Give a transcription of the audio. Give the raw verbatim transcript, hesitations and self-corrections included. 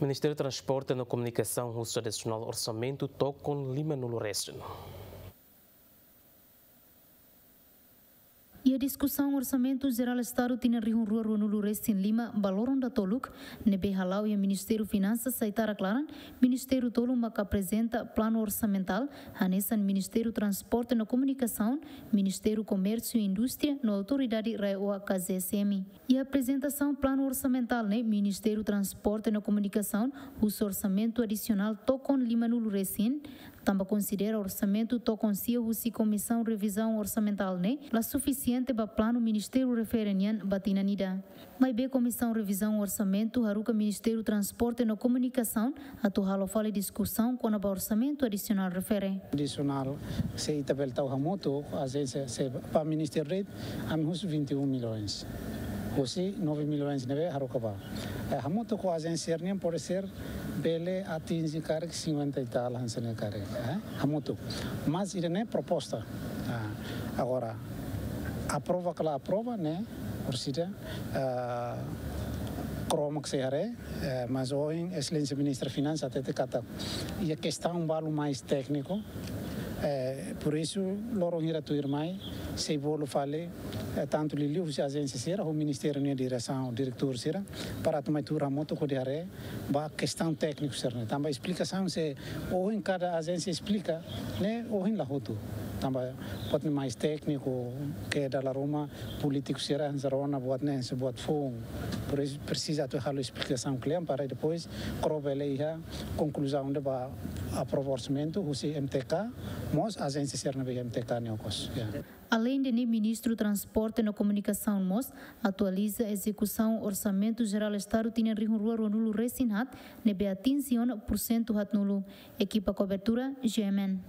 Ministériu Transporte no Komunikasaun husu adisionál orsamentu tokon lima nulu resin. Iha diskusaun Orsamentu Jerál Estadu tinan rihun rua rua nulu resin lima ba loron datoluk, ne'ebé hala'o iha Ministériu Finansas sai tara klaran, ministériu tolu maka aprezenta planu orsamentál, hanesan Ministériu Transporte no Komunikasaun, Ministériu Komérsiu i Indústria no Autoridade RAEOA ka GSM. Iha aprezentasaun planu orsamentál ne'e, Ministériu Transporte no Komunikasaun husu orsamentu adisionál tokon lima nulu resin, tanba konsidera orsamentu tokon sia husi Komisaun Revizaun Orsamentál ne'e la sufisiente ba planu ministériu refere nian ba tinan ida. Maibé Komisaun Revizaun Orsamentu haruka Ministériu Transporte no Komunikasaun atu halo fali diskusaun kona-ba orsamentu adisionál refere. Adisionál, se ita bele tau hamutuk ho ajénsia, se ba ministériu de'it, ami husu vinte e um milhões. Husi nove milhões ne'ebé haruka ba. Eh, hamutuk ho ajénsia nian pode ser bele atinje karik cinquenta e tal hanesan ne'e karik, eh? Hamutuk. Mas ida-ne'e proposta. Ah, agora, aprova ka la aprova ne'e, orsida, ah, kromo ke se haree, eh, mas ohin Exelénsia Ministra Finansas hatete katak iha kestaun balu mais tékniku, eh, por isso, loron hira tuirmai, sei bolu fali, eh, tantu liuliu husi ajénsia sira, ho ministériu nia diresaun, diretór sira, para atu mai tuur hamutuk hodi haree ba kestaun tékniku sira-ne'e. Tanba esplikasaun se ohin kada ajénsia esplika, ne'e ohin la hotu. Tanba buat ne'e mais tékniku, ke dala ruma polítiku sira hanesan rona buat ne'e, hanesan buat foun. Por isso, presiza atu halo esplikasaun kle'an para depois kromo bele iha konkluzaun ida ba aprova orsamentu husi M T K, mós ajénsia sira ne'ebé iha M T K nia okos. Ya. Aleinde ne'e, Ministru Transporte no Komunikasaun mós atualiza ezekusaun Orsamentu Jerál Estadu tinan rihun rua rua nulu resin haat, ne'ebé atinje ona pursentu haat nulu. Ekipa kobertura, G M N.